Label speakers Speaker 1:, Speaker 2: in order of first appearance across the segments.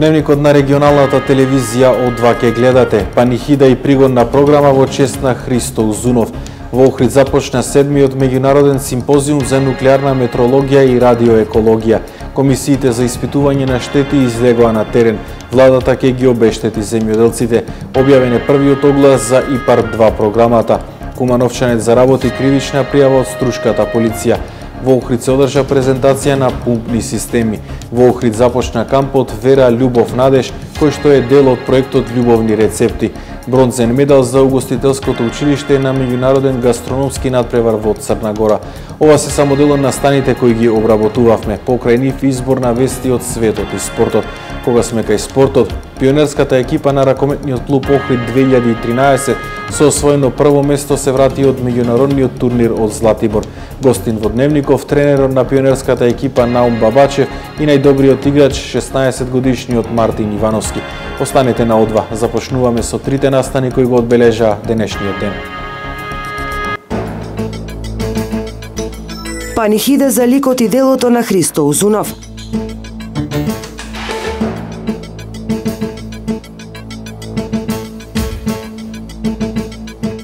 Speaker 1: Дневникот на регионалната телевизија О2 ке гледате. Панихида и пригодна програма во чест на Христо Узунов. Во Охрид започна 7-миот меѓународен симпозиум за нуклеарна метрологија и радиоекологија. Комисиите за испитување на штети излегоа на терен. Владата ке ги обештети земјоделците. Објавен е првиот оглас за ИПАР-2 програмата. Кумановчанец заработи кривична пријава од Струшката полиција. Во Охрид се одржа презентација на пумпни системи. Во Охрид започна кампот Вера, љубов, надеж, кој што е дел од проектот Љубовни рецепти. Бронзен медал за угостителското училиште на меѓународен гастрономски надпревар во Црна Гора. Ова се само дел од настаните кои ги обработувавме. Покрај нив избор на вести од светот и спортот. Кога сме кај спортот, пионерската екипа на ракометниот клуб Охрид 2013 со освоено прво место се врати од меѓународниот турнир од Златибор. Гостин во Дневников тренерот на пионерската екипа Наум Бабачев и најдобриот играч 16-годишниот Мартин Ивановски. Останете на О2. Започнуваме со трите настани кои го одбележаа денешниот ден.
Speaker 2: Панихида за ликот и делото на Христо Узунов.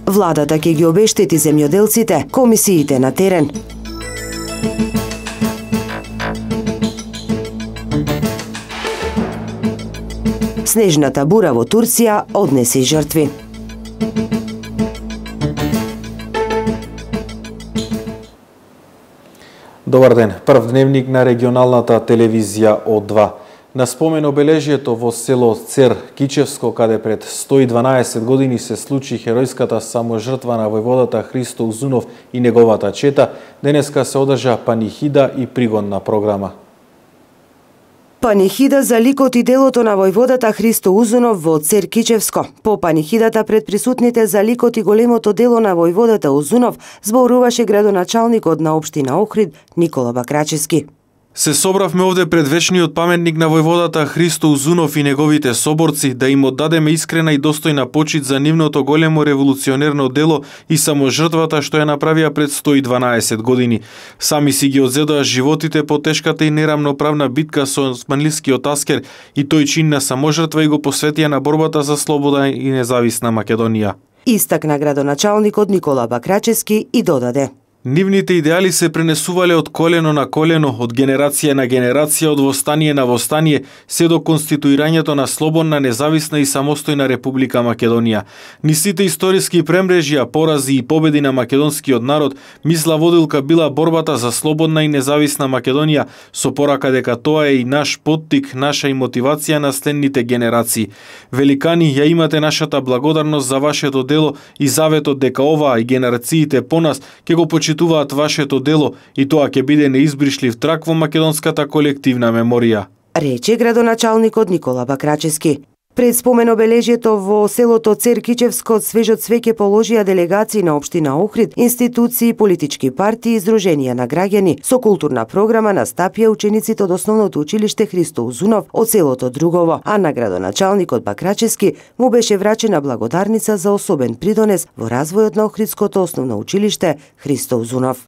Speaker 2: Владата ќе ги обештети земјоделците, комисиите на терен. Снежната бура во Турција однесе жртви.
Speaker 1: Добар ден, прв дневник на регионалната телевизија О2. На спомен обележието во село Цер Кичевско, каде пред 112 години се случи херојската саможртва на војводата Христо Узунов и неговата чета, денеска се одржа панихида и пригодна програма.
Speaker 2: Панихида за ликот и делото на војводата Христо Узунов во Цер Кичевско. По панихидата пред присутните за ликот и големото дело на војводата Узунов зборуваше градоначалникот на општина Охрид Никола Бакрачевски.
Speaker 1: Се собравме овде пред вечниот паметник на војводата Христо Узунов и неговите соборци да им оддадеме искрена и достојна почит за нивното големо револуционерно дело и саможртвата што ја направија пред 112 години. Сами си ги одзедоа животите по тешката и нерамноправна битка со османлискиот аскер и тој чин на саможртва и го посветија на борбата за слобода и независна Македонија.
Speaker 2: Истакна градоначалникот Никола Бакрачевски и додаде:
Speaker 1: Нивните идеали се пренесувале од колено на колено, од генерација на генерација, од востание на востание, се до конституирањето на слободна, независна и самостојна Република Македонија. Ни сите историски премрежја, порази и победи на македонскиот народ, мисла водилка била борбата за слободна и независна Македонија, со порака дека тоа е и наш поттик, наша и мотивација на следните генерации. Великани, ја имате нашата благодарност за вашето дело и заветот дека оваа и генерациите по нас ќе го почитуваат вашето дело и тоа ќе биде неизбришлив трак во македонската колективна меморија,
Speaker 2: рече градоначалникот Никола Бакрачевски. Пред спомен обележието во селото Цер Кичевско свежот свеќе положија делегации на општина Охрид, институции, политички партии и издруженија на граѓани. Со културна програма настапија учениците од основното училиште Христо Узунов од селото Другово, а на градоначалникот Бакрачевски му беше врачена благодарница за особен придонес во развојот на Охридското основно училиште Христо Узунов.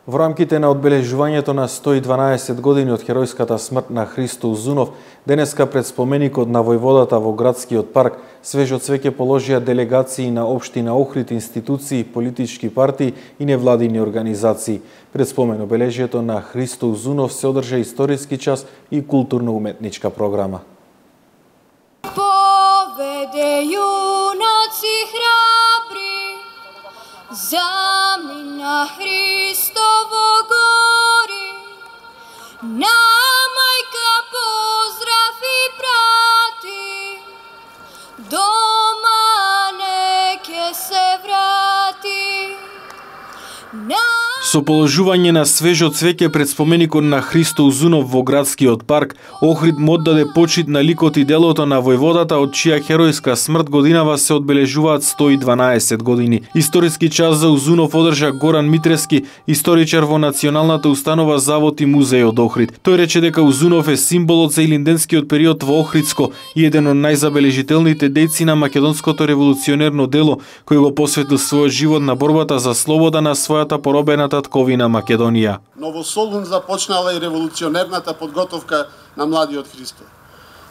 Speaker 1: Во рамките на одбележувањето на 112 години од херојската смрт на Христо Узунов, денеска пред споменикот на војводата во градскиот парк, свежот свеќе положија делегации на општина Охрид, институции, политички партии и невладини организации. Пред спомен обележието на Христо Узунов се одржа историски час и културно-уметничка програма.
Speaker 3: Поведе јунаци храбри, замина Христово гори, на мајка поздрав и прати, дома не ке се врати.
Speaker 1: Со положување на свежо цвеќе пред споменикот на Христо Узунов во градскиот парк, Охрид му оддаде почит на ликот и делото на војводата од чија херојска смрт годинава се одбележуваат 112 години. Историски час за Узунов одржа Горан Митрески, историчар во Националната установа Завод и музеј од Охрид. Тој рече дека Узунов е символот за илинденскиот период во Охридско и еден од најзабележителните дејци на македонското револуционерно дело, кој го посветил својот живот на борбата за слобода на својата поробената татковина Македонија.
Speaker 4: Но во Солун започнала и револуционерната подготовка на младиот Христо.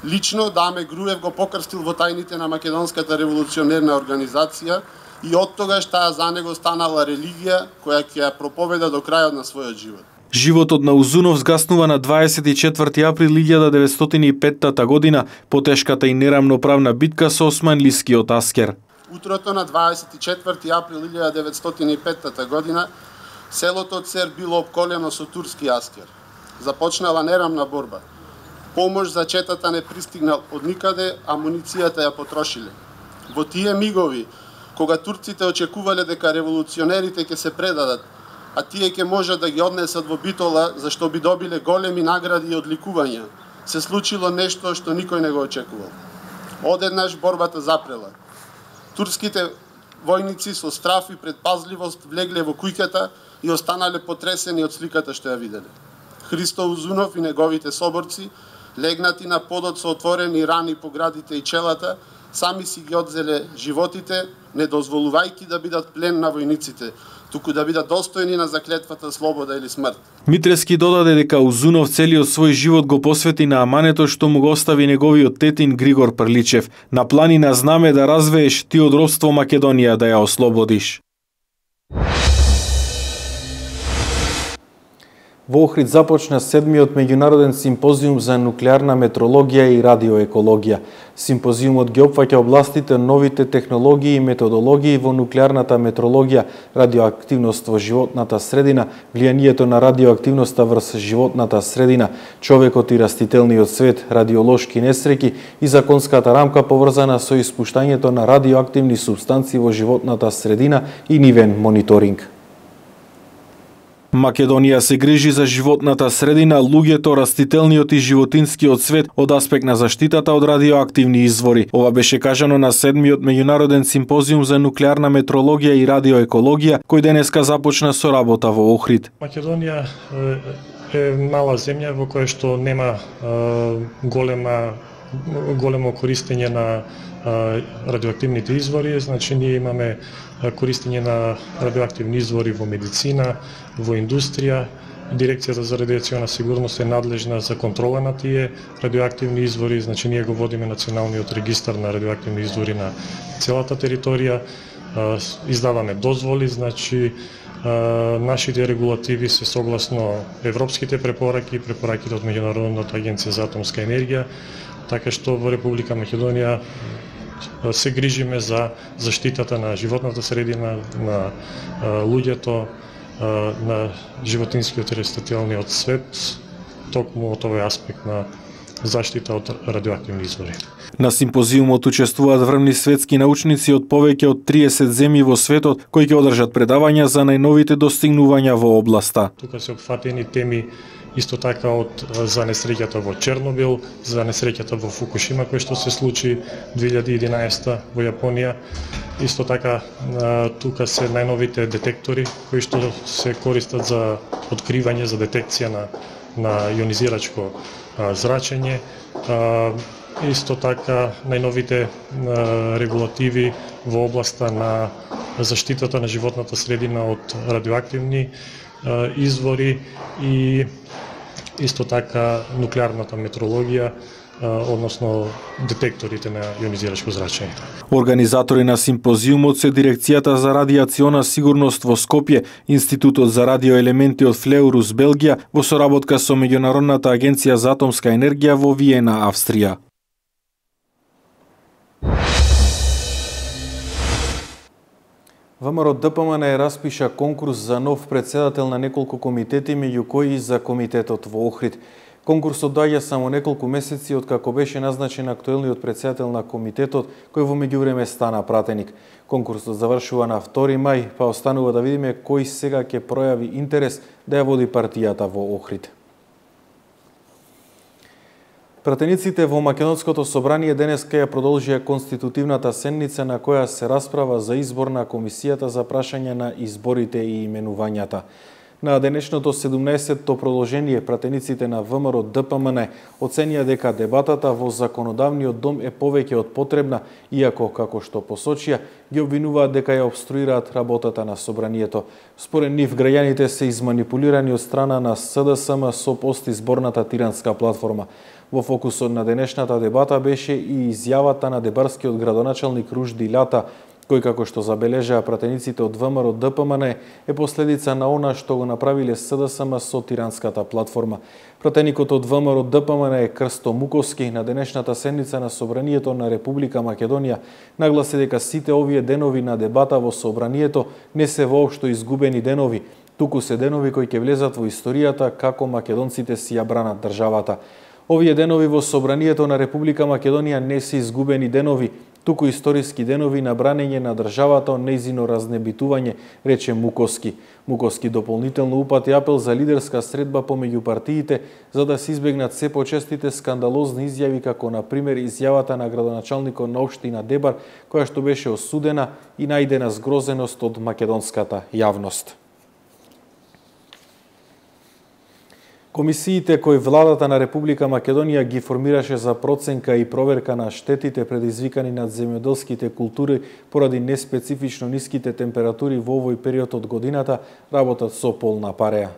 Speaker 4: Лично Даме Груев го покрстил во тајните на Македонската револуционерна организација и од тогаш таа за него станала религија која ќе ја проповеда до крајот на својот живот.
Speaker 1: Животот на Узунов згаснува на 24 април 1905 година по тешката и нерамноправна битка со османлискиот аскер.
Speaker 4: Утрото на 24 април 1905 година селото Цер било обколено со турски аскер. Започнала нерамна борба. Помош за четата не пристигнал од никаде, амуницијата ја потрошиле. Во тие мигови, кога турците очекувале дека револуционерите ќе се предадат, а тие ќе можат да ги однесат во Битола, зашто би добиле големи награди и одликувања, се случило нешто што никој не го очекувал. Одеднаш борбата запрела. Турските војници со страф и предпазливост влегле во куќата и останале потресени од сликата што ја виделе. Христо Узунов и неговите соборци, легнати на подот со отворени рани по градите и челата, сами си ги одзеле животите, не дозволувајќи да бидат плен на војниците, туку да бидат достојни на заклетвата слобода или смрт.
Speaker 1: Митрески додаде дека Узунов целиот свој живот го посвети на амането што му го остави неговиот тетин Григор Прличев. На планина знаме да развееш, ти од робство Македонија да ја ослободиш. Во Охрид започна 7-миот меѓународен симпозиум за нуклеарна метрологија и радиоекологија. Симпозиумот ги опфаќа областите новите технологии и методологии во нуклеарната метрологија, радиоактивност во животната средина, влијанието на радиоактивноста врз животната средина, човекот и растителниот свет, радиолошки несреќи и законската рамка поврзана со испуштањето на радиоактивни супстанции во животната средина и нивен мониторинг. Македонија се грижи за животната средина, луѓето, растителниот и животинскиот свет од аспект на заштитата од радиоактивни извори. Ова беше кажано на 7-миот меѓународен симпозиум за нуклеарна метрологија и радиоекологија, кој денеска започна со работа во Охрид.
Speaker 5: Македонија е мала земја во која што нема големо користење на радиоактивните извори, значи ние имаме користење на радиоактивни извори во медицина, во индустрија. Дирекцијата за радиациона сигурност е надлежна за контрола на тие радиоактивни извори, значи ние го водиме националниот регистар на радиоактивни извори на целата територија, издаваме дозволи, значи нашите регулативи се согласно европските препораки, препораките од Меѓународната агенција за атомска енергија, така што во Република Македонија се грижиме за заштитата на животната средина, на луѓето, на животинскиот и растителниот свет, токму од овој аспект на заштита од радиоактивни извори.
Speaker 1: На симпозиумот учествуваат врвни светски научници од повеќе од 30 земји во светот, кои ќе одржат предавања за најновите достигнувања во областа.
Speaker 5: Тука се опфатени теми исто така за несреќата во Чернобил, за несреќата во Фукушима кој што се случи 2011 во Јапонија. Исто така тука се најновите детектори кои што се користат за откривање, за детекција на јонизирачко зрачење. Исто така најновите регулативи во областа на заштитата на животната средина од радиоактивни извори и исто така нуклеарната метрологија, односно детекторите на јонизирачко зрачење.
Speaker 1: Организатори на симпозиумот се Дирекцијата за радиациона сигурност во Скопје, Институтот за радиоелементи од Флеурус, Белгија, во соработка со Меѓународната агенција за атомска енергија во Виена, Австрија. ВМРО ДПМН ја распиша конкурс за нов председател на неколку комитети, меѓу кои и за комитетот во Охрид. Конкурсот доаѓа само неколку месеци од како беше назначен актуелниот председател на комитетот, кој во меѓувреме стана пратеник. Конкурсот завршува на 2 мај, па останува да видиме кој сега ќе пројави интерес да ја води партијата во Охрид. Пратениците во Македонското собрание денеска ја продолжија конститутивната седница на која се расправа за избор на комисијата за прашање на изборите и именувањата. На денешното 17-то продолжение пратениците на ВМРО ДПМН оценија дека дебатата во законодавниот дом е повеќе од потребна, иако, како што посочија, ги обвинуваат дека ја обструираат работата на собранието. Според нив, граѓаните се изманипулирани од страна на СДСМ со постизборната тиранска платформа. Во фокусот на денешната дебата беше и изјавата на дебарскиот градоначалник Ружди Лјата, кој, како што забележаа пратениците од ВМРО ДПМН, е последица на она што го направиле СДСМ со тиранската платформа. Пратеникот од ВМРО ДПМН е Крсто Муковски на денешната седница на Собранието на Република Македонија нагласи дека сите овие денови на дебата во Собранието не се воопшто изгубени денови, туку се денови кои ќе влезат во историјата како македонците си ја бранат државата. Овие денови во Собранието на Република Македонија не се изгубени денови, туку историски денови на бранење на државата од нејзино разнебитување, рече Муковски. Муковски дополнително упати апел за лидерска средба помеѓу партиите, за да се избегнат се почестите скандалозни изјави, како на пример изјавата на градоначалникот на општина Дебар, која што беше осудена и најдена згрозеност од македонската јавност. Комисиите кои владата на Република Македонија ги формираше за проценка и проверка на штетите предизвикани над земјоделските култури поради неспецифично ниските температури во овој период од годината, работат со полна пареа.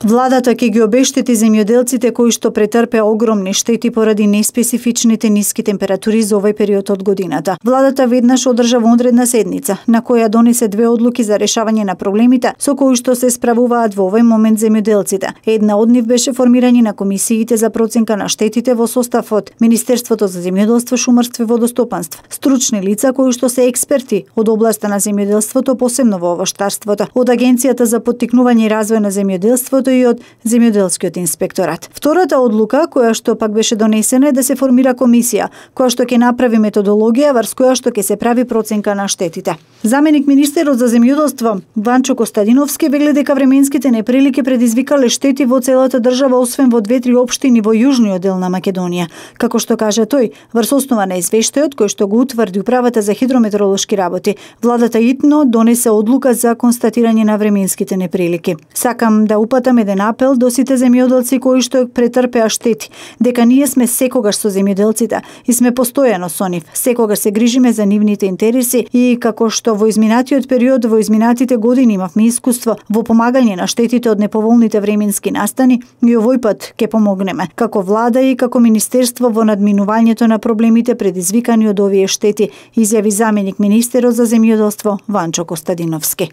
Speaker 6: Владата ќе ги обештети земјоделците кои што претрпеа огромни штети поради неспецифичните ниски температури за овој период од годината. Владата веднаш одржа вонредна седница, на која донесе две одлуки за решавање на проблемите со кои што се справуваат во овој момент земјоделците. Една од нив беше формирање на комисиите за проценка на штетите во состав од Министерството за земјоделство, шумарство и водостопанство, стручни лица кои што се експерти од областа на земјоделството, посебно во овоштарството, од Агенцијата за поттикнување и развој на земјоделството и од земјоделскиот инспекторат. Втората одлука, која што пак беше донесена, е да се формира комисија, која што ќе направи методологија врз која што ќе се прави проценка на штетите. Заменик министерот за земјоделство Ванчо Костадиновски вели дека временските неприлики предизвикале штети во целата држава, освен во 2-3 општини во јужниот дел на Македонија. Како што кажа тој, врз основа на извештајот кој што го утврди управата за хидрометеоролошки работи, владата итно донесе одлука за констатирање на временските неприлики. Сакам да упатам еден апел до сите земјоделци кои што претрпеа штети, дека ние сме секогаш со земјоделците и сме постојано со нив, секогаш се грижиме за нивните интереси и како што во изминатиот период, во изминатите години имавме искуство во помагање на штетите од неповолните временски настани, и овој пат ќе помогнеме, како влада и како министерство во надминувањето на проблемите предизвикани од овие штети, изјави заменик министерот за земјоделство Ванчо Костадиновски.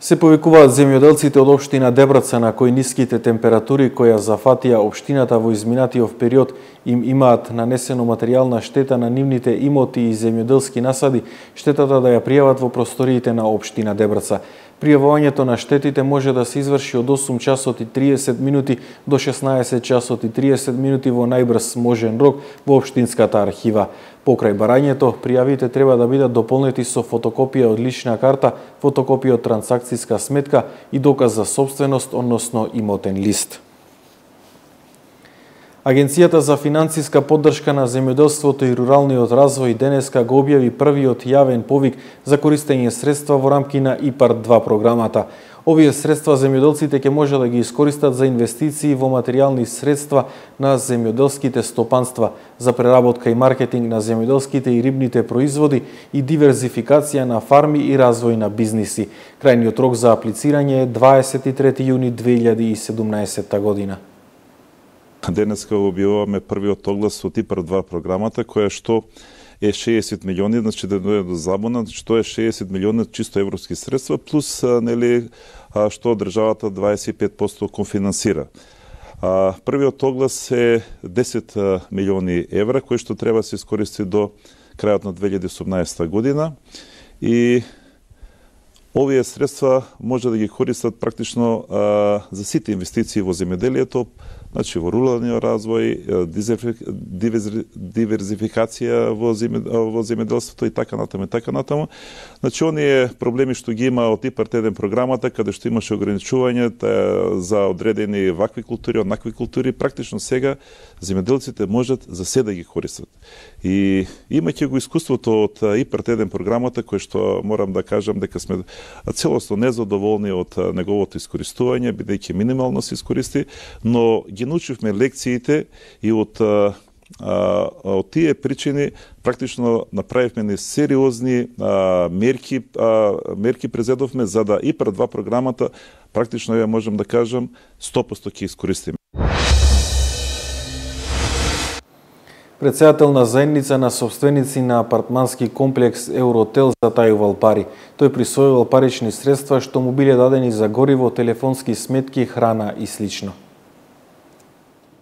Speaker 1: Се повикуваат земјоделците од општина Дебраца на кои ниските температури која зафатија општината во изминатиот период им имаат нанесено материјална штета на нивните имоти и земјоделски насади, штетата да ја пријават во просториите на општина Дебраца. Пријавувањето на штетите може да се изврши од 8 часот и 30 минути до 16 часот и 30 минути во најбрз можен рок во општинската архива. Покрај барањето, пријавите треба да бидат дополнети со фотокопија од лична карта, фотокопија од трансакциска сметка и доказ за собственост, односно имотен лист. Агенцијата за финансиска поддршка на земјоделството и руралниот развој денеска го објави првиот јавен повик за користење средства во рамки на ИПАРД-2 програмата. Овие средства земјоделците ќе може да ги искористат за инвестиции во материјални средства на земјоделските стопанства, за преработка и маркетинг на земјоделските и рибните производи и диверзификација на фарми и развој на бизниси. Крајниот рок за аплицирање е 23 јуни 2017 година.
Speaker 7: Денеска објавуваме првиот оглас од ИПАРД-2 програмата, која што е 60 милиони, значи да дојде до забуна, што е 60 милиони чисто европски средства, плюс нели што државата 25% конфинансира. Првиот оглас е 10 милиони евра, кои што треба да се искористи до крајот на 2018 година и овие средства може да ги користат практично за сите инвестиции во земјоделието, значи во руралниот развој, диверзификација во земјоделството и така натаму. Значи оние проблеми што ги има од ИПАРД-1 програмата, каде што имаше ограничување за одредени вакви култури, онакви култури, практично сега земјоделците можат за се да ги користат. И имајќи го искуството од ИПАРТ-1 програмата, кој што морам да кажам дека сме целосно незадоволни од неговото искористување, бидејќи минимално се искористи, но ги научивме лекциите и од тие причини практично направивме несериозни мерки презедовме за да ИПАР-2 програмата практично ја можам да кажам 100% ќе искористиме.
Speaker 1: Председател на заедница на собственици на апартмански комплекс Евротел затајувал пари. Тој присвојувал парични средства што му биле дадени за гориво, телефонски сметки, храна и слично.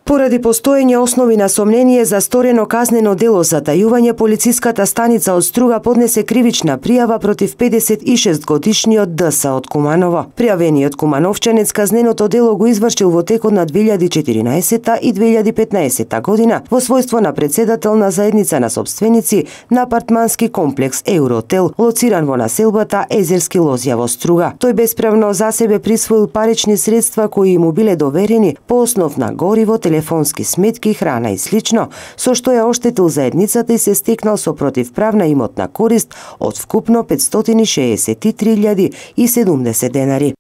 Speaker 2: Поради постоење основи на сомнение за сторено казнено дело затајување, полициската станица од Струга поднесе кривична пријава против 56-годишниот ДС од Куманово. Пријавениот кумановчанец казненото дело го извршил во текот на 2014 и 2015 година во својство на председател на заедница на собственици на апартмански комплекс Евротел, лоциран во населбата Езерски лозја во Струга. Тој бесправно за себе присвоил парични средства кои му биле доверени по основ на гориво, телефонски сметки, храна и слично, со што ја оштетил заедницата и се стекнал со противправна имотна корист од вкупно 563.070 денари.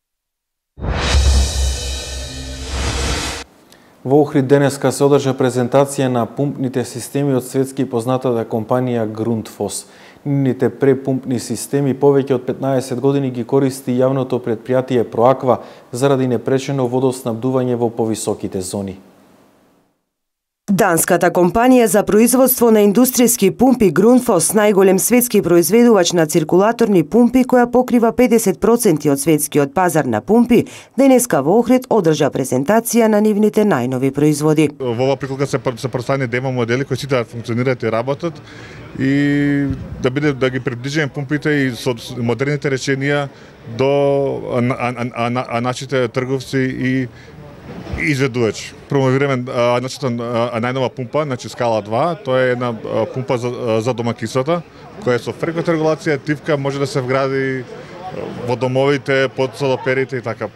Speaker 1: Во Охрид денеска се одржа презентација на пумпните системи од светски познатата компанија Grundfos. Нивните препумпни системи повеќе од 15 години ги користи јавното претпријатие Proaqua заради непречено водоснабдување во повисоките зони.
Speaker 2: Данската компанија за производство на индустријски пумпи Grundfos, најголем светски произведувач на циркулаторни пумпи која покрива 50% од светскиот пазар на пумпи, денеска во Охрид одржа презентација на нивните најнови производи.
Speaker 8: Во оваа приколка се представени демо модели кои сите функционираат и работат и да ги приближиме пумпите и со модерните решенија до нашите трговци и изведувач. Промовираме најнова пумпа, значи скала 2, тоа е една пумпа за домакинствата, која со фреквентна регулација тивка може да се вгради во домовите, под солоперите и така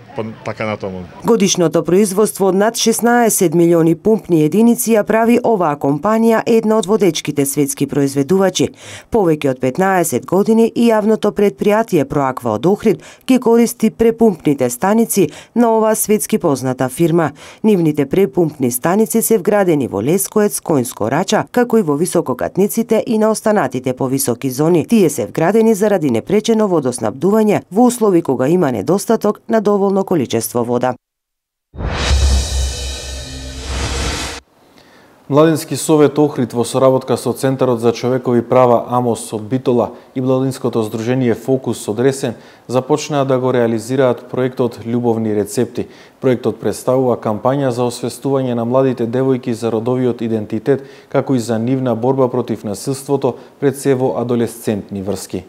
Speaker 8: натаму.
Speaker 2: Годишното производство од над 16 милиони пумпни единици ја прави оваа компанија една од водечките светски произведувачи. Повеќе од 15 години и јавното претпријатие Proaqua од Охрид ги користи препумпните станици на оваа светски позната фирма. Нивните препумпни станици се вградени во Лескоец, Коњско Рача, како и во висококатниците и на останатите повисоки зони. Тие се вградени заради непречено водоснабдување во услови кога има недостаток на доволно количество вода.
Speaker 1: Младински совет Охрид во соработка со Центарот за човекови права АМОС од Битола и Младинското здружение Фокус од Ресен започнаа да го реализираат проектот Љубовни рецепти. Проектот представува кампања за освестување на младите девојки за родовиот идентитет, како и за нивна борба против насилството пред се во адолесцентни врски.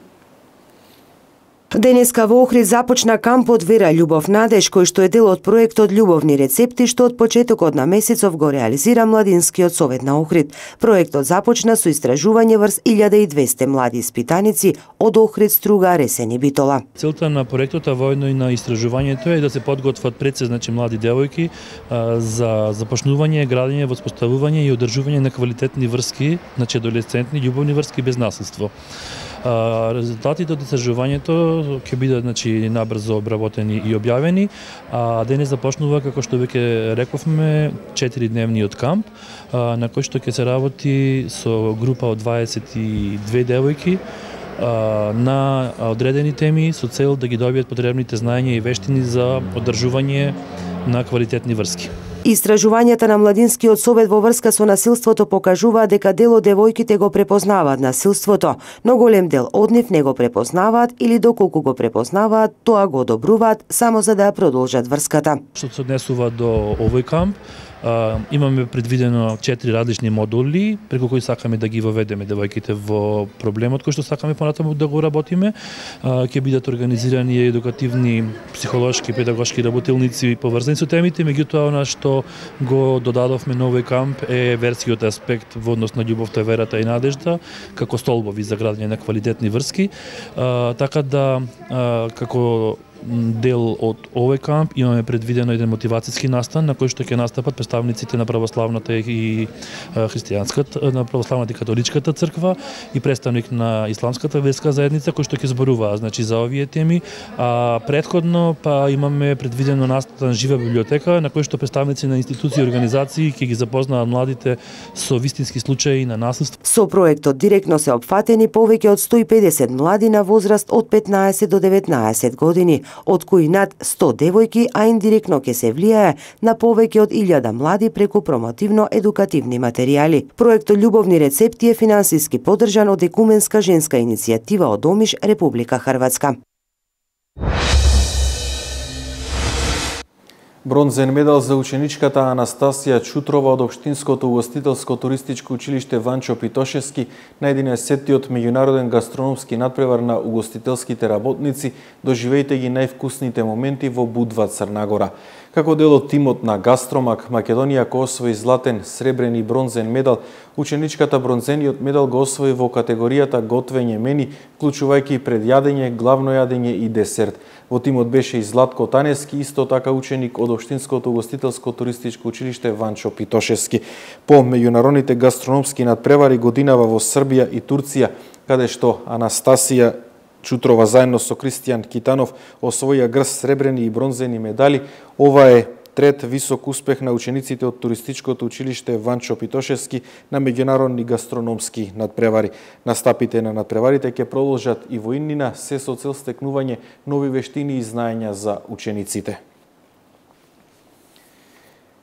Speaker 2: Денеска во Охрид започна кампот Вера, љубов, надеж, кој што е дел од проектот Љубовни рецепти, што од почетокот на месецов го реализира Младинскиот совет на Охрид. Проектот започна со истражување врз 1200 млади испитаници од Охрид, Струга, Ресен и Битола.
Speaker 9: Целта на проектот, а воедно и на истражувањето е да се подготват пред се, значи, млади девојки за започнување, градење, воспоставување и одржување на квалитетни врски, значи адолесцентни љубовни врски без насилство. Резултатите од истражувањето ќе бидат, значи, набрзо обработени и објавени, а денес започнува, како што веќе рековме, 4-дневниот камп, на кој што ќе се работи со група од 22 девојки на одредени теми со цел да ги добијат потребните знаења и вештини за одржување на квалитетни врски.
Speaker 2: Истражувањата на Младинскиот совет во врска со насилството покажуваат дека дел од девојките го препознаваат насилството, но голем дел од нив не го препознаваат или доколку го препознаваат, тоа го одобруваат само за да ја продолжат врската.
Speaker 9: Што се однесува до овој камп, имаме предвидено 4 различни модули преку кои сакаме да ги воведеме девојките во проблемот кој што сакаме понатаму да го работиме. Ќе бидат организирани едукативни, психолошки, педагошки работилници поврзани со темите, меѓутоа она што го додадовме на овој камп е верскиот аспект во однос на љубовта, верата и надежда како столбови за градење на квалитетни врски, така да како дел од овој камп имаме предвидено еден мотивацијски настан на кој што ќе настапат представниците на православната и христијанската, на православната и католичката црква и представник на исламската верска заедница кој што ќе зборуваа значи за овие теми. А претходно па имаме предвидено настан жива библиотека на кој што представници на институции и организации ќе ги запознаат младите со вистински случаи на насилство.
Speaker 2: Со проектот директно се опфатени повеќе од 150 млади на возраст од 15 до 19 години, од кои над 100 девојки, а индиректно ќе се влијае на повеќе од 1000 млади преку промотивно-едукативни материјали. Проектот Љубовни рецепти е финансиски поддржан од Екуменска женска иницијатива од Омиш, Република Хрватска.
Speaker 1: Бронзен медал за ученичката Анастасија Чутрова од Општинското угостителско туристичко училиште Ванчо Питошевски на 11-тиот меѓународен гастрономски надпревар на угостителските работници, доживејте ги највкусните моменти во Будва, Црна Гора. Како дел од тимот на Гастромак, Македонија кој освои златен, сребрен и бронзен медал, ученичката бронзениот медал го освои во категоријата готвење мени, вклучувајќи предјадење, главно јадење и десерт. Во тимот беше и Златко Таневски, исто така ученик од Општинското угостителско туристичко училиште Ванчо Питошевски. По меѓународните гастрономски надпревари годинава во Србија и Турција, каде што Анастасија Чутрова заедно со Кристијан Китанов освоија грст сребрени и бронзени медали. Ова е трет висок успех на учениците од туристичкото училиште Ванчо Питошевски на меѓународни гастрономски надпревари. Настапите на надпреварите ќе продолжат и во иднина, се со цел стекнување нови вештини и знаења за учениците.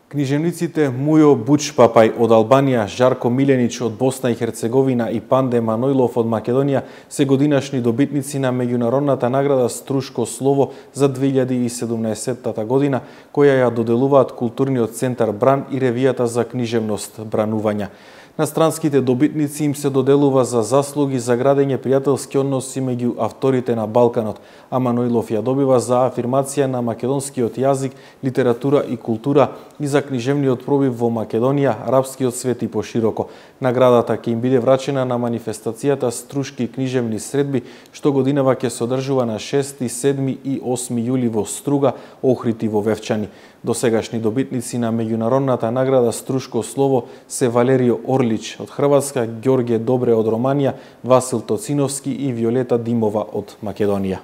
Speaker 1: Книжевниците Мујо Бучпапај од Албанија, Жарко Миленич од Босна и Херцеговина и Панде Манојлов од Македонија се годинашни добитници на меѓународната награда Струшко слово за 2017 година, која ја доделуваат Културниот центар Бран и ревијата за книжевност Бранувања. На странските добитници им се доделува за заслуги за градење пријателски односи меѓу авторите на Балканот, а Манојлов ја добива за афирмација на македонскиот јазик, литература и култура и за книжевниот пробив во Македонија, арапскиот свет и пошироко. Наградата ќе им биде врачена на манифестацијата Струшки книжевни средби, што годинава ќе се одржува на 6, 7 и 8 јули во Струга, Охрид и во Вевчани. Досегашни добитници на меѓународната награда Струшко слово се Валерио Орлич од Хрватска, Ѓорѓе Добре од Романија, Васил Тоциновски и Виолета Димова од Македонија.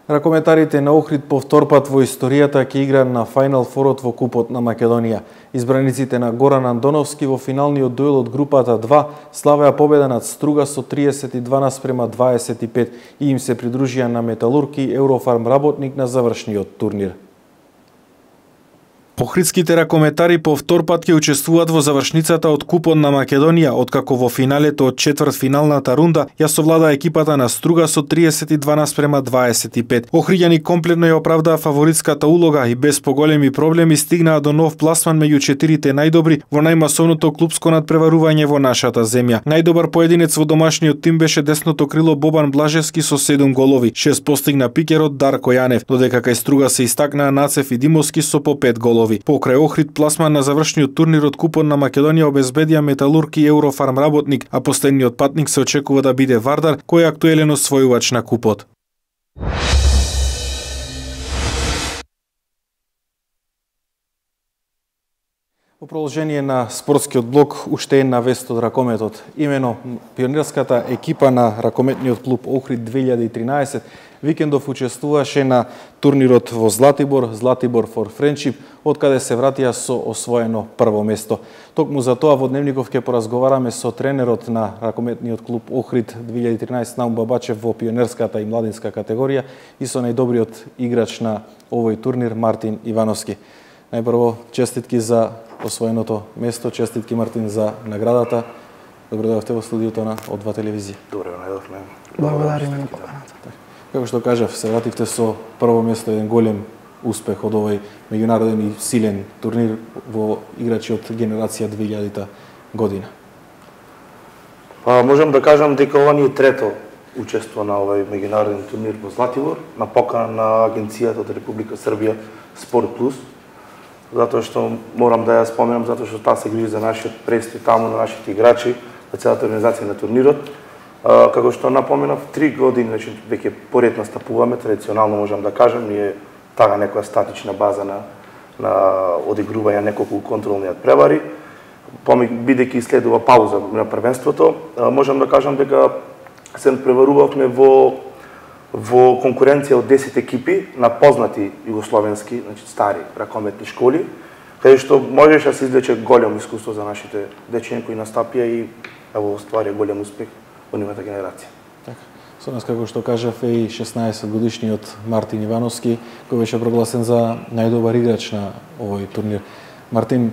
Speaker 1: Ракометарите на Охрид по втор пат во историјата ќе играат на Фајнал Форот во Купот на Македонија. Избраниците на Горан Андоновски во финалниот дуел од групата 2 славеа победа над Струга со 32:25 и им се придружија на Металург и Еврофарм Работник на завршниот турнир. Охридските ракометари по втор пат ќе учествуваат во завршницата од Купот на Македонија, откако во финалето од четвртфиналната рунда ја совлада екипата на Струга со 32:25. Охриѓани комплетно ја оправдаа фаворитската улога и без поголеми проблеми стигнаа до нов пласман меѓу четирите најдобри во најмасовното клупско надпреварување во нашата земја. Најдобар поединец во домашниот тим беше десното крило Бобан Блажевски со 7 голови. 6 постигна пикерот Дарко Јанев, додека кај Струга се истакнаа Нацев и Димовски со по 5 голови. Покрај Охрид пласман на завршниот турнир од Купот на Македонија обезбедија Металург и Еврофарм Работник, а последниот патник се очекува да биде Вардар, кој е актуелен освојувач на Купот. Во продолжение на спортскиот блок, уште една вест од ракометот. Имено пионерската екипа на ракометниот клуб Охрид 2013 викендов учествуваше на турнирот во Златибор, Златибор for Friendship, од каде се вратија со освоено прво место. Токму за тоа во Дневников ќе поразговараме со тренерот на ракометниот клуб Охрид 2013 Наум Бабачев во пионерската и младинска категорија и со најдобриот играч на овој турнир Мартин Ивановски. Најпрво честитки за освоеното место, честитки Мартин за наградата. Добро дојдовте во студиото на О2 телевизија.
Speaker 10: Добро најдовме.
Speaker 11: Благодариме на поканата.
Speaker 1: Како што кажав, се вративте со прво место, еден голем успех од овој меѓународен и силен турнир во играчи од генерација 2000-та година?
Speaker 10: Па можам да кажам дека ова ни е трето учество на овој меѓународен турнир во Златибор на покана на агенцијата од Република Србија Спорт Плюс, затоа што морам да ја споменам, затоа што таа се грижи за нашиот престој таму, на нашите играчи, за целата организација на турнирот. Како што напоменав, 3 години значи веќе поред настапуваме, традиционално можам да кажам, ние тага некоја статична база на одигрување неколку контролни превари. Бидејќи следува пауза на првенството, можам да кажам дека се преварувавме во конкуренција од 10 екипи на познати југословенски, значи стари ракометни школи, каде што можеше да се извлече големо искуство за нашите дечиња кои настапија и ево остварија голем успех во нивната генерација.
Speaker 1: Така. Со нас, како што кажав, е и 16 годишниот Мартин Ивановски, кој беше прогласен за најдобар играч на овој турнир. Мартин,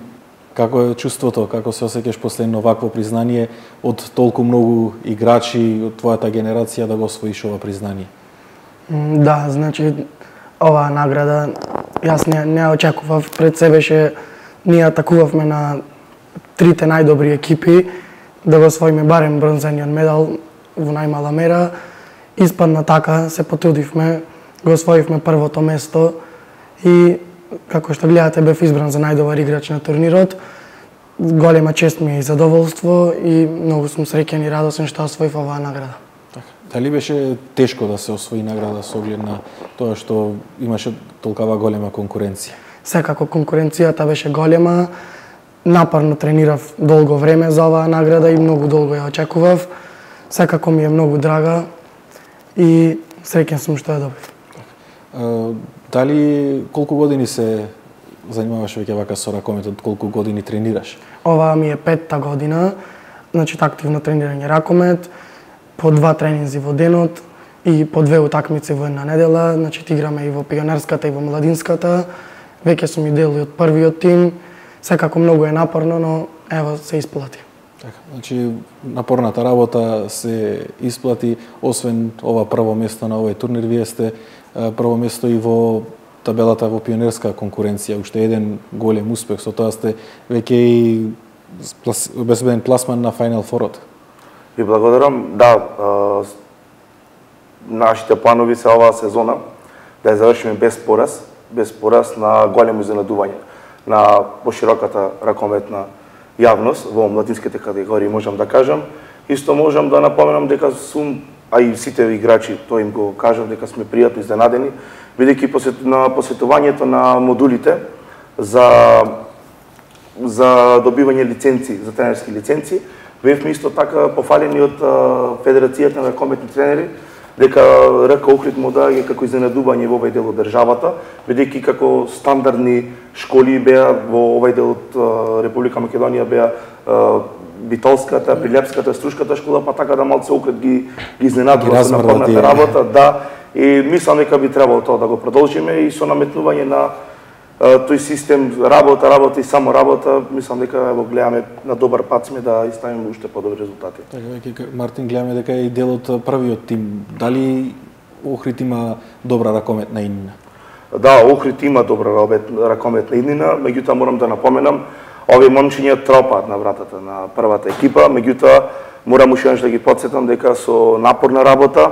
Speaker 1: како е чувството, како се осеќаш после вакво признание од толку многу играчи од твојата генерација да го освоиш ова признание?
Speaker 11: Да, значи оваа награда јас не очекував, пред се беше ние атакувавме на трите најдобри екипи да го освоиме барем бронзениот медал во најмала мера. Испадна така, се потрудивме, го освоивме првото место и како што гледате бев избран за најдобар играч на турнирот. Голема чест ми е и задоволство и многу сум среќен и радосен што освоив оваа награда.
Speaker 1: Така. Дали беше тешко да се освои награда со оглед на тоа што имаше толкава голема конкуренција?
Speaker 11: Секако конкуренцијата беше голема. Напорно тренирав долго време за оваа награда и многу долго ја очекував. Секако ми е многу драга и среќен сум што ја добив.
Speaker 1: Дали колку години се занимаваш веќе вака со ракометот, колку години тренираш?
Speaker 11: Ова ми е 5-та година, значи активно тренирање ракомет, по 2 тренинзи во денот и по 2 утакмици во една недела, значи играме и во пионерската и во младинската. Веќе сум и дел од првиот тим. Секако многу е напорно, но ево се исплати.
Speaker 1: Така, значи напорната работа се исплати, освен ова прво место на овој турнир, вие сте прво место и во табелата во пионерска конкуренција, уште еден голем успех, со тоа сте веќе и обезбеден пласман на Final Four-от.
Speaker 10: Ви благодарам. Да, нашите планови се оваа сезона да ја завршиме без пораз на големо изненадување на пошироката ракометна јавност во младинските категории, можам да кажам. Исто можам да напоменам дека сум, а и сите играчи, тоа им го кажам, дека сме пријатно изненадени, бидејќи на посетувањето на модулите за добивање лиценци, за тренерски лиценци, бевме исто така пофалени од Федерацијата на ракометни тренери, дека РК Охрид му даде како изненадување во овој дел од државата, бидејќи како стандардни школи беа во овој дел од Република Македонија беа Битолската, Прилепската, Струшката школа, па така да малце Охрид ги изненадува со напорната работа, да, и мислам дека би требало тоа да го продолжиме и со наметнување на тој систем работа и само работа, мислам дека го гледаме на добар пат сме да иставиме уште подобри резултати.
Speaker 1: Така, веќе Мартин, гледаме дека е и дел од првиот тим. Дали Охрид има добра ракометна иднина?
Speaker 10: Да, Охрид има добра ракометна иднина, меѓутоа морам да напоменам, овие момчиња тропаат на вратата на првата екипа, меѓутоа морам уште да ги потсетам дека со напорна работа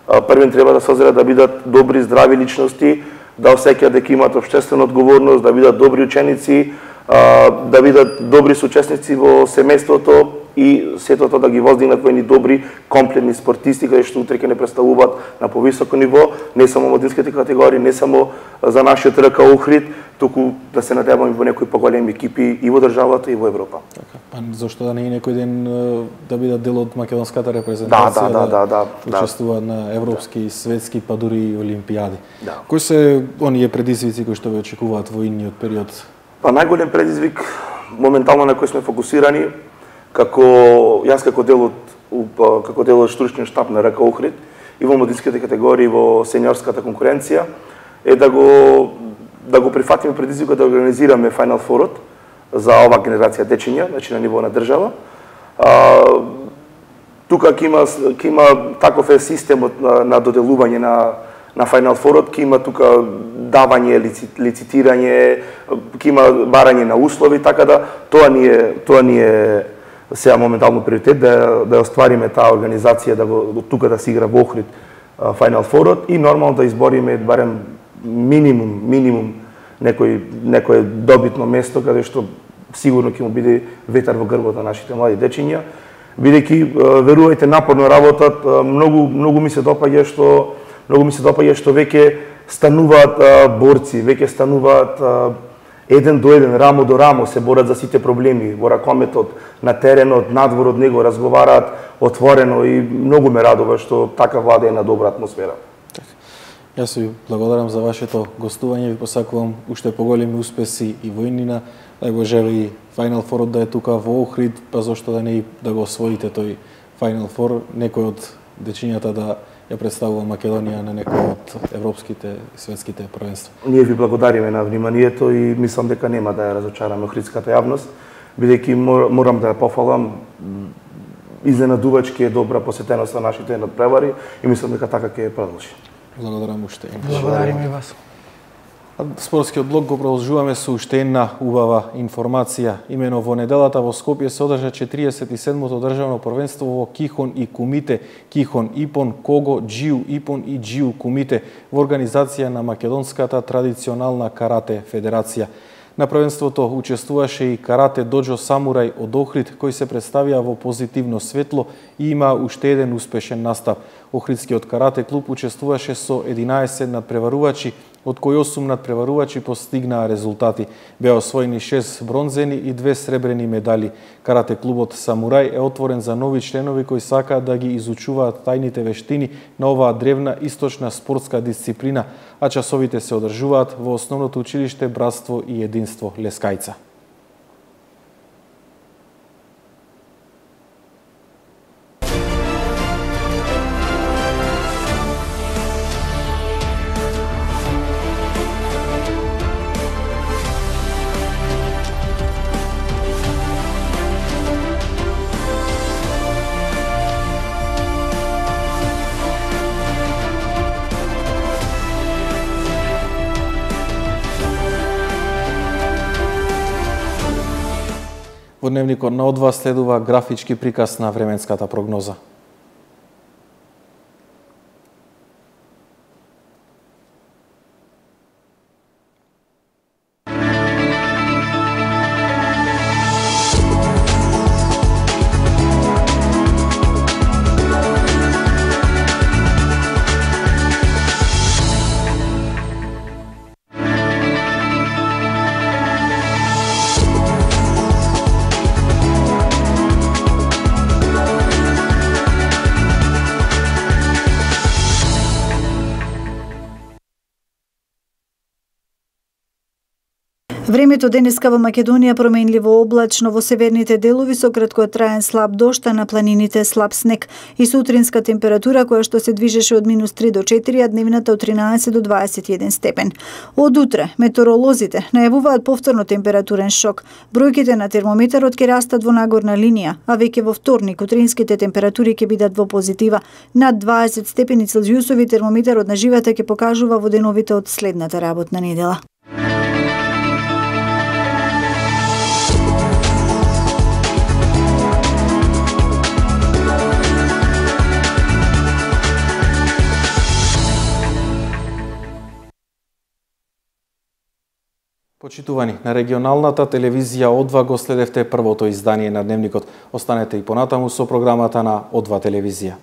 Speaker 10: првен треба да созрат да бидат добри, здрави личности, да осеќаат дека имаат општествена одговорност, да бидат добри ученици, да бидат добри соучесници во семејството и сето тоа да ги воздигнат во едни добри, комплетни спортисти, кои што утре ќе не представуваат на повисоко ниво, не само младинските категории, не само за нашиот РК Охрид, туку да се надеваме во некои поголеми екипи и во државата и во Европа.
Speaker 1: Така, па зошто да не и некој ден да бидат дел од македонската репрезентација,
Speaker 10: да
Speaker 1: учествуваат на европски, светски, па дури и олимпијади. Да. Кои се оние предизвици кои што ве очекуваат во идниот период?
Speaker 10: Па најголем предизвик моментално на кој сме фокусирани, јас како дел од стручниот штаб на РК Охрид и во младинските категории во сениорската конкуренција е да го прифатиме предизвикот да организираме Final Four-от за ова генерација дечиња, значи на ниво на држава. Тука ќе има таков е системот на доделување на Final Four ќе има тука давање, лицитирање, ќе има барање на услови, така да тоа ни е сега моментално приоритет да оствариме таа организација да тука да се игра во Охрид Final Four и нормално да избориме барем минимум некое добитно место каде што сигурно ќе му биде ветар во грбот на нашите млади дечиња, бидејќи верувајте напорно работат, многу ми се допаѓа што веќе стануваат борци, веќе стануваат еден до еден, рамо до рамо, се борат за сите проблеми во ракометот, на теренот, надвор од него, разговараат отворено и многу ме радува што така владе една добра атмосфера.
Speaker 1: Јас ви благодарам за вашето гостување, ви посакувам уште поголеми успеси и во иднина, да го жели Final Four да е тука во Охрид, па зошто да не да го освоите тој Final Four, некој од дечињата да ја представува Македонија на некој од европските и светските првенства.
Speaker 10: Ние ви благодариме на вниманието и мислам дека нема да ја разочараме охридската јавност, бидејќи морам да ја пофалам, изненадувачки е добра посетеност на нашите надпревари и мислам дека така ќе ја продолжи.
Speaker 1: Благодарам уште.
Speaker 11: Благодариме и вас.
Speaker 1: Спортскиот блок го продолжуваме со уште една убава информација. Имено во неделата во Скопје се одржа 47-то државно првенство во Кихон и Кумите, Кихон Ипон, Кого, Џиу Ипон и Џиу Кумите во организација на Македонската традиционална карате федерација. На првенството учествуваше и карате доџо Самурај од Охрид, кој се представија во позитивно светло и има уште еден успешен настап. Охридскиот карате клуб учествуваше со 11 надпреварувачи, од кои 8 надпреварувачи постигнаа резултати. Беа освоени 6 бронзени и 2 сребрени медали. Карате клубот Самурај е отворен за нови членови кои сакаат да ги изучуваат тајните вештини на оваа древна источна спортска дисциплина, а часовите се одржуваат во основното училиште Братство и единство Лескајца. Во дневникот на Одва следува графички приказ на временската прогноза.
Speaker 6: Времето денеска во Македонија променливо облачно, во северните делови со краткотраен слаб дожд, а на планините слаб снег и сутринска температура која што се движеше од -3 до 4, а дневната од 13 до 21 степен. Од утре метеоролозите најавуваат повторно температурен шок. Бројките на термометарот ќе растат во нагорна линија, а веќе во вторник утринските температури ќе бидат во позитива. Над 20 степени Целзиусови термометарот на живата ќе покажува во деновите од следната работна недела.
Speaker 1: Почитувани, на регионалната телевизија Одва го следевте првото издание на Дневникот. Останете и понатаму со програмата на Одва телевизија.